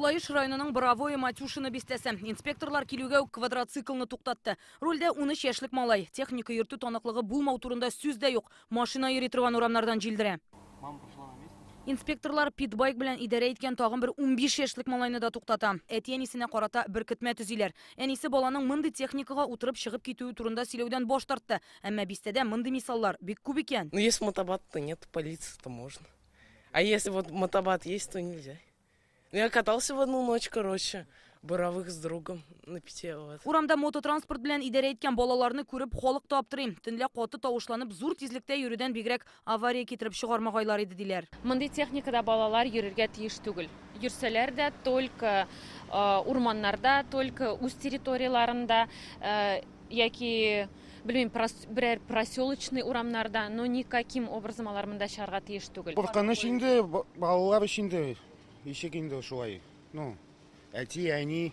Лаеш районының Боровое Матюшино бистәсе. Инспекторлар килүгә үк квадроциклны туктатты. Рульдә 13 яшьлек малай. Техника йөртү таныклыгы булмау турында сүз дә юк. Машина йөри торган урамнардан җилдерә. Инспекторлар питбайк белән идарә иткән тагын бер 15 яшьлек малайны да туктата. Әти-әнисенә карата беркетмә төзиләр. Әнисе баланың мондый техникага утырып чыгып китүе турында сөйләүдән баш тартты. Әмма бистәдә мондый мисаллар бик күп икән. Ну, если мотобат, то нет, полиции, то можно. А если вот мотобат есть, то нельзя. Ну, я катался в одну ночь, короче, Боровых с другом на пяти, вот. Урамда мототранспорт белән идарә иткән балаларны күреп, халык та аптырый. Төнлә каты тавышланып, зур тизлектә йөрүдән бигрәк авария китереп чыгармагайлар иде, диләр. Мондый техникада балалар йөрергә тиеш түгел. Йөрсәләр дә, только урманнарда, только үз территорияләрендә, яки, белмим, берәр проселочный урамнарда, но никаким образом алар монда чыгарга тиеш түгел. Куркыныч инде, балалар өчен инде, ничек инде шулай. Ну, әти, әни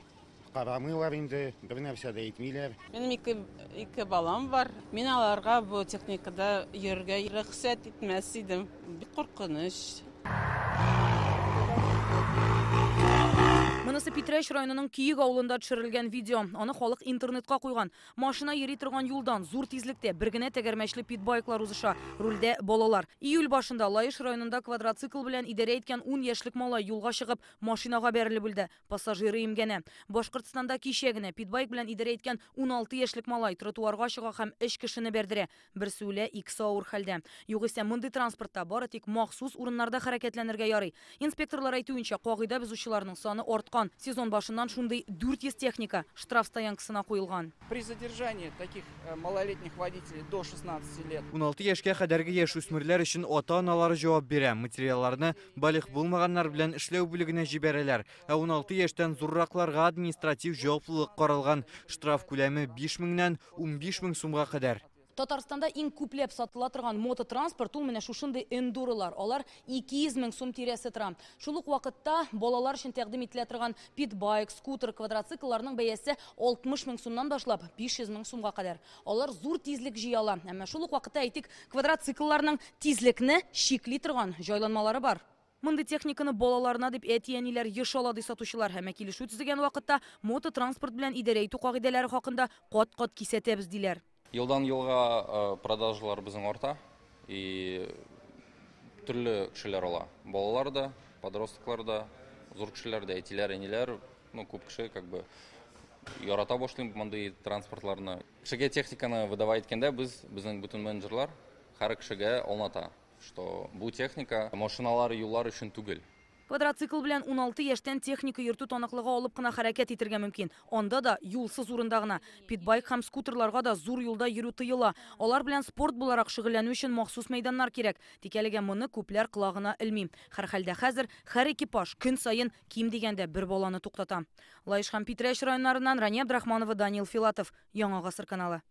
карамыйлар инде, бер нәрсә дә әйтмиләр. Минем ике балам бар. Мин аларга бу техникада йөрергә рөхсәт итмәс идем. Бик куркыныч. Монысы Питрәч районының Киек авылында төшерелгән видео. Аны халык интернетка куйган. Машина йөри торган юлдан зур тизлектә бер генә тәгәрмәчле питбайклар узыша. Рульдә балалар. Июль башында Лаеш районында квадроцикл белән идарә иткән 10 яшьлек малай юлга чыгып, машинага бәрелеп үлде. Пассажиры имгәнә. Башкортстанда кичә генә питбайк белән идарә иткән 16 яшьлек малай тротуарга чыга һәм өч кешене бәрдерә. Берсе үлә, икесе авыр хәлдә. Югыйсә мондый транспортта бары тик махсус урыннарда хәрәкәтләнергә ярый. Инспекторлар әйтүенчә, кагыйдә бозучыларның саны арткан. Сезон башыннан шундый 400 техника штраф стоянкасына куелган. При задержании таких малолетних водителей до 16 лет. 16 яшькә кадәрге яшүсмерләр өчен ата-аналары җавап бирә. Материалларны балигъ булмаганнар белән эшләү бүлегенә җибәрәләр. Ә 16 яшьтән зурракларга административ җаваплылык каралган. Штраф күләме 5000-нән 15000 сумга кадәр. Татарстанда иң күпләп сатыла торган мототранспорт ул менә шушындый эндуролар. Алар 200 мең сум тирәсе тора. Шул ук вакытта балалар өчен тәкъдим ителә торган питбайк, скутер, квадроциклларның бәясе 60 мең сумнан башлап 500 мең сумга кадәр. Алар зур тизлек җыя ала. Әмма шул ук вакытта, әйтик, квадроциклларның тизлекне чикли торган җайланмалары бар. Мондый техниканы балаларына дип әти-әниләр еш ала, ди сатучылар. Әмма килешү төзегән вакытта мототранспорт белән идарә итү кагыйдәләре хакында кат-кат кисәтәбез, диләр. Елдан елга продажалар безнең арта, и төрле кешеләр ала. Балалар да, подростклар да, зур кешеләр дә, әтиләр, әниләр, ну, күп кеше ярата башлый мондый транспортларны. Кешегә техниканы выдавать иткәндә безнең бөтен менеджерлар һәр кешегә аңлата, что бу техника машиналар, юллар өчен түгел. Квадроцикл белән 16 яшьтән техника йөртү таныклыгы алып кына хәрәкәт итәргә мөмкин. Анда да юлсыз урында гына. Питбайк һәм скутерларга да зур юлда йөрү тыела. Алар белән спорт буларак шөгыльләнү өчен махсус мәйданнар кирәк. Тик әлегә моны күпләр колагына элми. Һәрхәлдә хәзер һәр экипаж көн саен ким дигәндә бер баланы туктата. Лаеш һәм Питрәч районнарыннан Рания Абдрахманова, Даниил Филатов, Яңа Гасыр каналы.